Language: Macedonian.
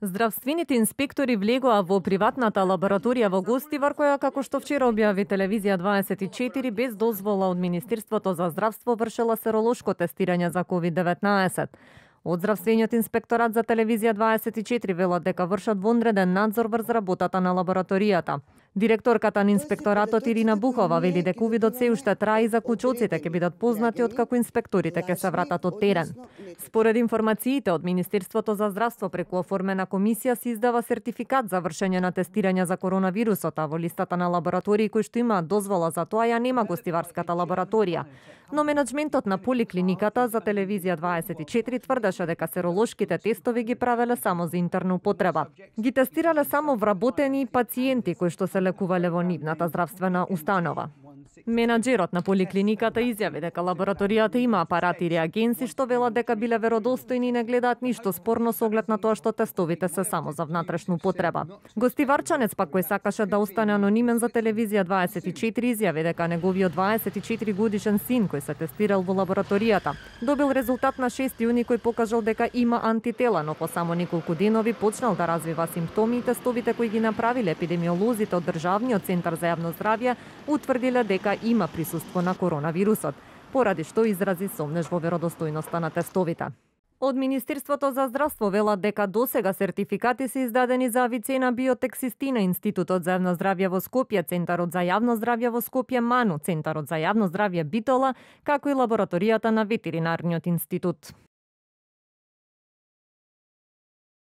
Здравствените инспектори влегоа во приватната лабораторија во Гостивар, која, како што вчера објави телевизија 24, без дозвола од Министерството за здравство вршела серолошко тестирање за COVID-19. Од здравствениот инспекторат за телевизија 24 велат дека вршат вонреден надзор врз работата на лабораторијата. Директорката на инспекторатот Ирина Бухова вели дека увидот се уште трае и заклучоците ќе бидат познати откако инспекторите ќе се вратат од терен. Според информациите од Министерството за здравство преку оформена комисија се издава сертификат за вршење на тестирање за коронавирусот, а во листата на лаборатории кои што имаат дозвола за тоа ја нема Гостиварската лабораторија. Но менеджментот на поликлиниката за телевизија 24 тврдеше дека серолошките тестови ги правеле само за интерна употреба. Ги тестирале само вработени пациенти кои што се лекувале во нивната здравствена установа. Менаџерот на поликлиниката изјави дека лабораторијата има апарати и реагенси што велат дека биле веродостојни и не гледаат ништо спорно со оглед на тоа што тестовите се само за внатрешна употреба. Гостиварчанец пак кој сакаше да остане анонимен за телевизија 24 изјави дека неговиот 24 годишен син кој се тестирал во лабораторијата добил резултат на 6 јуни кој покажал дека има антитела, но по само неколку денови почнал да развива симптоми и тестовите кои ги направиле епидемиолозите од Државниот центар за јавно здравје утврдиле дека има присуство на коронавирусот, поради што изрази сомнеж во веродостојноста на тестовите. Од Министерството за здравство велат дека досега сертификати се издадени за Авицена Биотексистина, Институтот за јавно здравје во Скопје, Центарот за јавно здравје во Скопје МАНУ, Центарот за јавно здравје Битола, како и лабораторијата на Ветеринарниот институт.